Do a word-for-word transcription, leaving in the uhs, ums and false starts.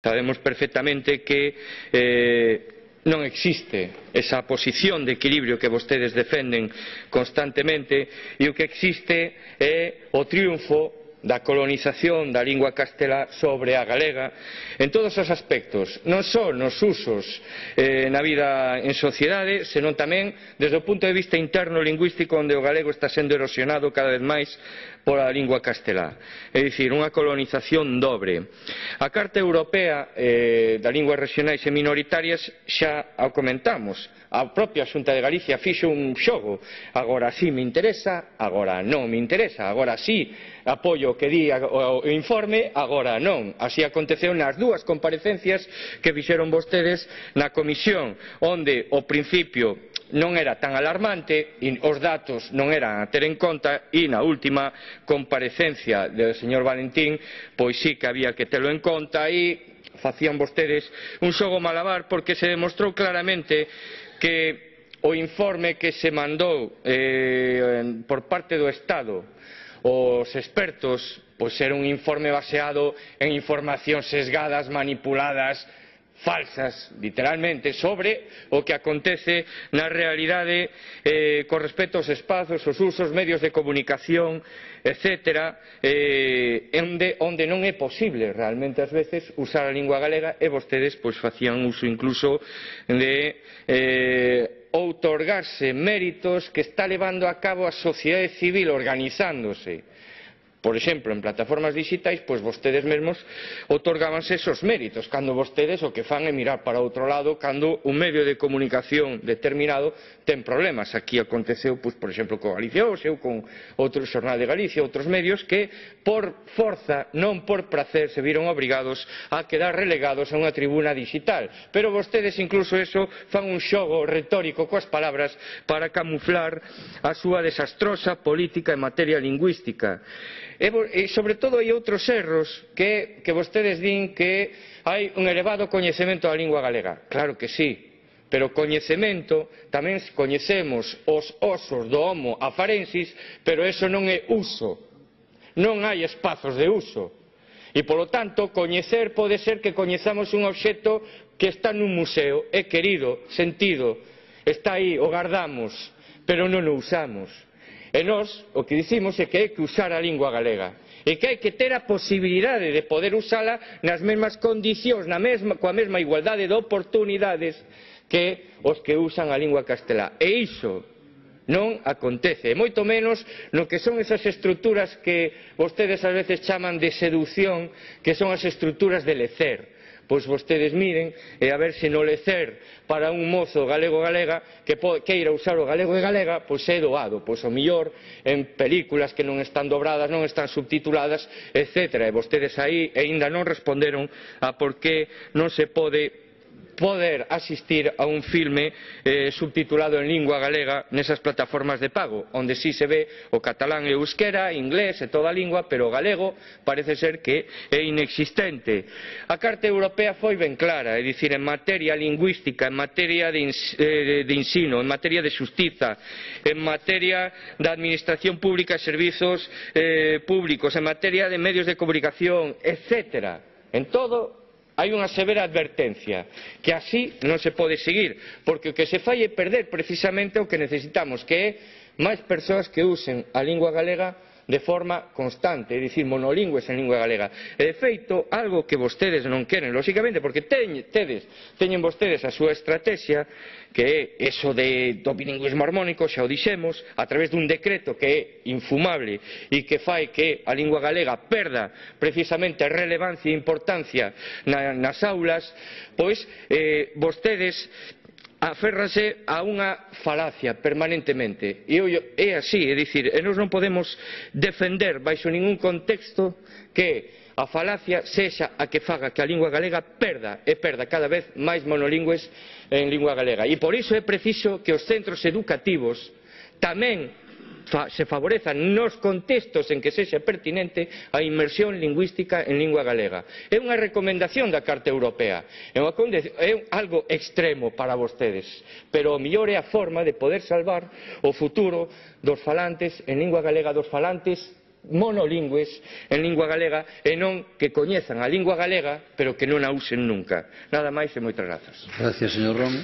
Sabemos perfectamente que eh, non existe esa posición de equilibrio que vostedes defenden constantemente e o que existe é o triunfo da colonización da lingua castelá sobre a galega en todos os aspectos, non só nos usos eh, na vida en sociedade, senón tamén desde o punto de vista interno lingüístico, onde o galego está sendo erosionado cada vez máis pola lingua castelá. É dicir, unha colonización dobre. A Carta Europea eh, da Linguas Regionais e Minoritarias xa a comentamos. A propia Xunta de Galicia fixo un xogo. Agora sí me interesa, agora non me interesa. Agora sí apoio o que di o informe, agora non. Así aconteceu nas dúas comparecencias que fixeron vostedes na comisión, onde o principio non era tan alarmante e os datos non eran a ter en conta, e na última comparecencia do señor Valentín pois sí que había que telo en conta, e facían vostedes un xogo malabar, porque se demostrou claramente que o informe que se mandou eh, por parte do Estado os expertos pois era un informe baseado en informacións sesgadas, manipuladas, falsas, literalmente, sobre o que acontece na realidade eh, con respecto aos espazos, os usos, medios de comunicación, etcétera, eh, onde, onde non é posible realmente ás veces usar a lingua galega, e vostedes pois facían uso incluso de eh, outorgarse méritos que está levando a cabo a sociedade civil organizándose. Por exemplo, en plataformas digitais, pois vostedes mesmos outorgábanse esos méritos, cando vostedes o que fan é mirar para outro lado cando un medio de comunicación determinado ten problemas. Aquí aconteceu, pois, por exemplo, con Galicia Hoxe ou con outro Xornal de Galicia, outros medios que, por forza, non por prazer, se viron obrigados a quedar relegados a unha tribuna digital. Pero vostedes, incluso eso, fan un xogo retórico coas palabras para camuflar a súa desastrosa política en materia lingüística. E, sobre todo, hai outros erros que, que vostedes din que hai un elevado coñecemento da lingua galega. Claro que sí, pero coñecemento tamén coñecemos os osos do Homo afarensis, pero eso non é uso, non hai espazos de uso. E, polo tanto, coñecer pode ser que coñezamos un obxecto que está nun museo, é querido, sentido, está aí, o guardamos, pero non o usamos. E nós o que dicimos é que hai que usar a lingua galega e que hai que ter a posibilidade de poder usala nas mesmas condicións, na mesma, coa mesma igualdade de oportunidades que os que usan a lingua castelá. E iso non acontece, e moito menos no que son esas estruturas que vostedes ás veces chaman de seducción, que son as estruturas de lecer. Pois vostedes miren e a ver se no lecer para un mozo galego-galega que queira usar o galego e galega, pois é doado, pois o mellor en películas que non están dobradas, non están subtituladas, etcétera. E vostedes aí aínda non responderon a por que non se pode poder asistir a un filme eh, subtitulado en lingua galega nesas plataformas de pago, onde sí se ve o catalán e o euskera, inglés e toda a lingua, pero o galego parece ser que é inexistente. A Carta Europea foi ben clara, é dicir, en materia lingüística, en materia de, eh, de ensino, en materia de xustiza, en materia da administración pública e servizos eh, públicos, en materia de medios de comunicación, etcétera. En todo hai unha severa advertencia, que así non se pode seguir, porque o que se fai é perder precisamente o que necesitamos, que é máis persoas que usen a lingua galega de forma constante, é dicir, monolingües en lingua galega. E, de feito, algo que vostedes non queren, lóxicamente, porque teñen, tedes, teñen vostedes a súa estrategia, que é eso de, do bilingüismo armónico, xa o dixemos, a través dun decreto que é infumable e que fai que a lingua galega perda precisamente relevancia e importancia na, nas aulas, pois eh, vostedes aférranse a unha falacia permanentemente, e é así, é dicir, e nós non podemos defender baixo ningún contexto que a falacia sexa a que faga que a lingua galega perda e perda cada vez máis monolingües en lingua galega. E por iso é preciso que os centros educativos tamén se favorezan nos contextos en que sexa pertinente a inmersión lingüística en lingua galega. É unha recomendación da Carta Europea, é, unha, é algo extremo para vostedes, pero o mellor é a forma de poder salvar o futuro dos falantes en lingua galega, dos falantes monolingües en lingua galega e non que coñezan a lingua galega pero que non a usen nunca. Nada máis e moitas grazas. Gracias, señor Ron.